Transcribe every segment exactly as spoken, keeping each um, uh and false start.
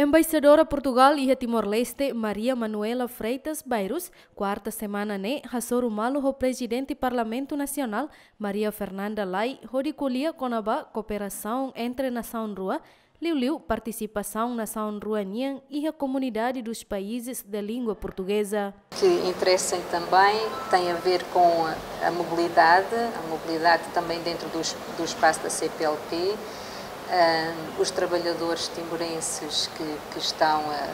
Embaixadora Portugal iha Timor-Leste, Maria Manuela Freitas Bairros, kuarta semana ne'e hasoru malu ho Prezidente Parlamentu Nasionál, Maria Fernanda Lay, hodi ko'alia kona-ba kooperasaun entre nasaun rua, liuliu partisipasaun nasaun rua nian iha Comunidade dos Países de Língua Portuguesa. Que interessem também têm a ver com a mobilidade, a mobilidade também dentro dos, do espaço da C P L P, ah, os trabalhadores timorenses que, que estão a,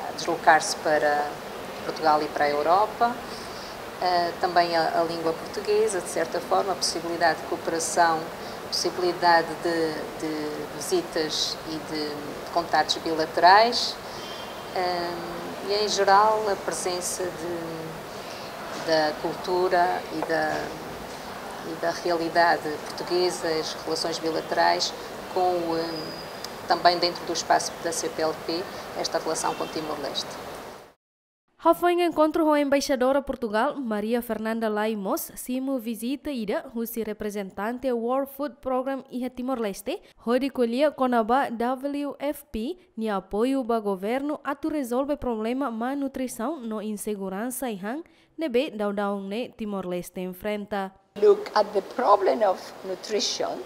a deslocar-se para Portugal e para a Europa, ah, também a, a língua portuguesa, de certa forma, a possibilidade de cooperação, possibilidade de, de visitas e de contactos bilaterais, ah, e, em geral, a presença de, da cultura e da, e da realidade portuguesa, as relações bilaterais com o, eh, também dentro do espaço da C P L P, esta relação com Timor-Leste. Hafoin enkontru ho Embaixadora Portugal, Maria Fernanda Lay mós simu vizita ida husi reprezentante World Food Programme iha Timor-Leste, hodi ko'alia kona-ba W F P nia apoiu ba governu atu rezolve problema malnutrisaun no inseguransa ai-han ne'ebé daudaun ne'e Timor-Leste enfrenta. Look at the problem of nutrition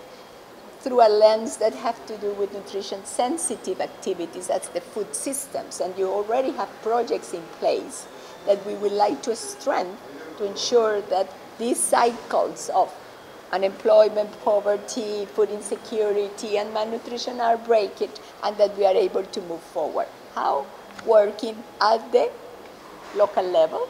through a lens that have to do with nutrition sensitive activities, that's the food systems, and you already have projects in place that we would like to strengthen to ensure that these cycles of unemployment, poverty, food insecurity, and malnutrition are breaking, and that we are able to move forward. How? Working at the local level,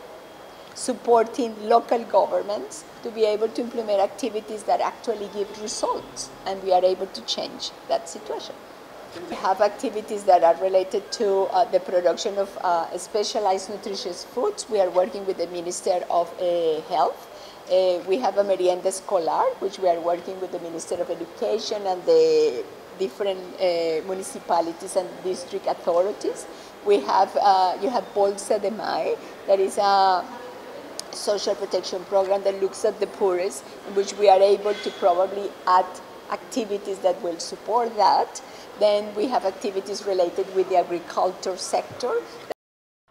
supporting local governments to be able to implement activities that actually give results, and we are able to change that situation. We have activities that are related to, uh, the production of, uh, specialized nutritious foods. We are working with the Minister of, uh, Health. Uh, we have a merienda escolar, which we are working with the Minister of Education and the different, uh, municipalities and district authorities. We have, uh, you have Bolsa de Mãe, that is a social protection program that looks at the poorest, in which we are able to probably add activities that will support that. Then we have activities related with the agriculture sector.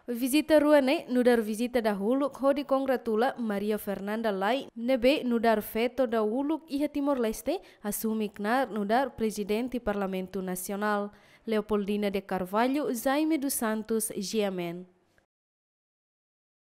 Vizita rua ne'e nu'udar vizita dahuluk hodi kongratula Maria Fernanda Lay ne'ebé nu'udar feto dahuluk iha Timor-Leste asume knaar nu'udar Prezidente Parlamentu Nasionál. Leopoldina de Carvalho, Jaime dos Santos, G M N.